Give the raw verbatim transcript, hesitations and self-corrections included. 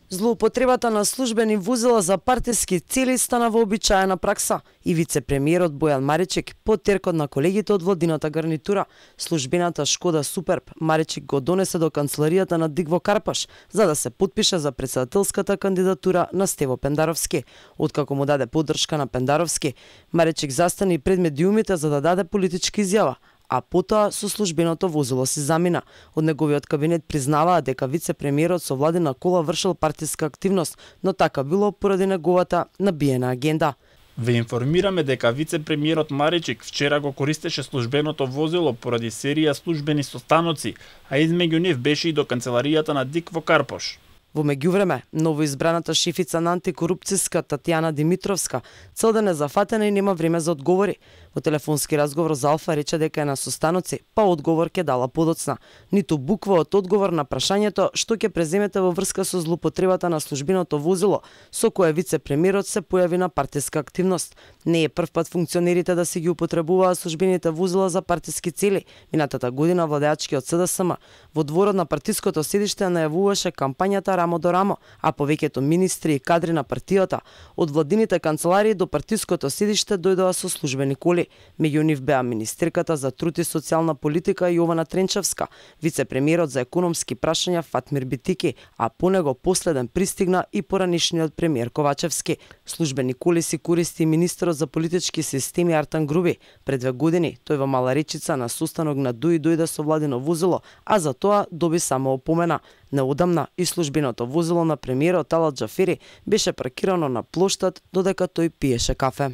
Злоупотребата на службени возила за партиски цели стана вообичаена пракса и вице-премиерот Бојан Маричек по теркот на колегите од владината гарнитура, службената Шкода Суперб Маричек го донесе до канцеларијата на Дигво Карпаш за да се потпише за претседателската кандидатура на Стево Пендаровски. Откако му даде поддршка на Пендаровски, Маричек застани пред медиумите за да даде политичка изјава, а потоа со службеното возило се замина. Од неговиот кабинет признаваа дека вице-премиерот со владина кола вршил партиска активност, но така било поради неговата набиена агенда. Ве информираме дека вице-премиерот Маричек вчера го користеше службеното возило поради серија службени состаноци, а измеѓу нив беше и до канцеларијата на Дигво Карпаш. Во меѓувреме, новоизбраната шефица на антикорупцијска Татјана Димитровска целден е зафатена и нема време за одговори. Во телефонски разговор за Алфа рече дека е на состаноци, па одговор ќе дала подоцна. Ниту буква од одговор на прашањето што ќе преземете во врска со злоупотребата на службеното возило, со кое вице-премиерот се појави на партиска активност. Не е прв пат функционерите да си ги употребуваат службените возила за партиски цели. Минатата година владеачкиот СДСМ во дворот на партиското седиште најавуваше кампањата рамо до рамо, а повеќето министри и кадри на партијата од владините канцеларии до партиското седиште дојдоа со службени коли. Меѓу нив беа министерката за труд и социјална политика Јована Тренчевска, вице-премиерот за економски прашања Фатмир Битики, а по него последен пристигна и поранишниот премиер Ковачевски. Службени коли си користи министерот за политички системи Артан Груби. Пред две години тој во Мала Речица на состанок на ДУИ дојде со владино возило, а за тоа доби само опомена. Неодамна и службеното возило на премиерот Талат Џафери беше паркирано на плоштад додека тој пиеше кафе.